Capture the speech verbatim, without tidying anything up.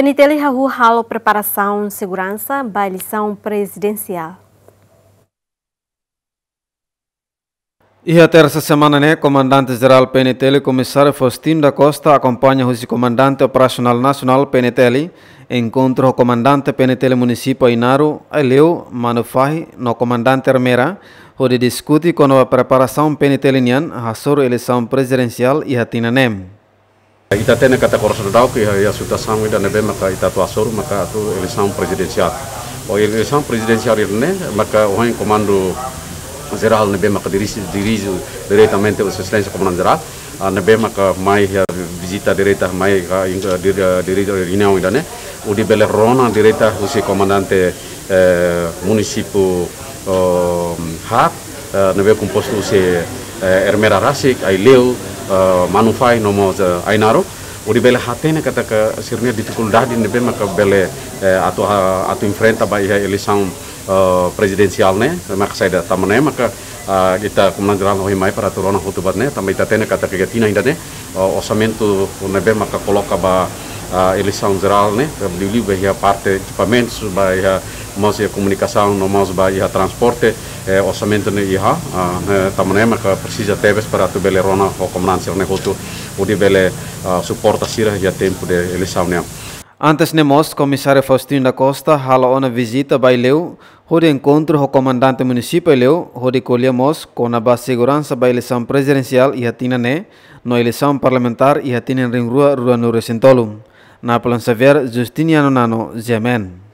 PNTL hahú halo preparasaun seguransa ba eleisaun prezidensiál. Iha tersa semana ne'e, Komandante Jerál PNTL, Komisáriu Faustino da Costa, akompaña husi Komandante Operasionál Nasionál PNTL, enkontru ho Komandante PNTL Munisípiu Ainaro, Aileu, Manufahi, no Komandante Ermera, hodi diskute kona-ba preparasaun PNTL nian hasoru eleisaun prezidensiál iha tinan ne'e. Ita hatene katak oras daudauk iha, iha situasaun ida ne'ebé maka ita atu hasoru maka atu eleisaun prezidensiál. Ho eleisaun prezidensiál ida-ne'e maka ohin Komandu Jerál ne'ebé maka dirije, dirije diretamente Sua Exelénsia Komandante Jerál, ah, ne'ebé maka mai iha vizita direta mai ka, in-, dir-, dirije reuniaun ida-ne'e, hodi bele rona direta husi komandante, eh, munisípiu, oh, haat, eh, ne'ebé kompostu husi, eh, Ermera rasik, Aileu, eh, Manufahi, no mós, eh, Ainaro, hodi bele hatene katak sira-nia difikuldade ne'ebé maka bele, eh, atu, ah, atu enfrenta ba iha eleisaun, eh, prezidensiál ne'e, maka saida, tanba ne'e maka, ah, ita Komandante Jerál ohin mai para atu rona hotu buat ne'e, tanba ita hatene katak iha tinan ida-ne'e, ah, orsamentu ne'ebé maka koloka ba, ah, eleisaun jerál ne'e, liuliu ba iha parte ekipamentus, ba iha mós iha komunikasaun, no mós ba iha transporte, eh, orsamentu ne'e iha, ah, eh, tanba ne'e maka presiza tebes para atu bele rona ho komandante sira-ne'e hotu, hodi bele, ah, suporta sira iha tempu de eleisaun ne'e. Antes ne'e mós, Komisáriu Faustino da Costa halo ona vizita ba Aileu, hodi enkontru ho Komandante Munisípiu Aileu, hodi ko'alia mós kona-ba seguransa ba eleisaun prezidensiál iha tinan ne'e, no eleisaun parlamentár iha tinan rihun rua ruanulu-resin-tolu. Napoleon Xavier, Justiniano Nano, G M N.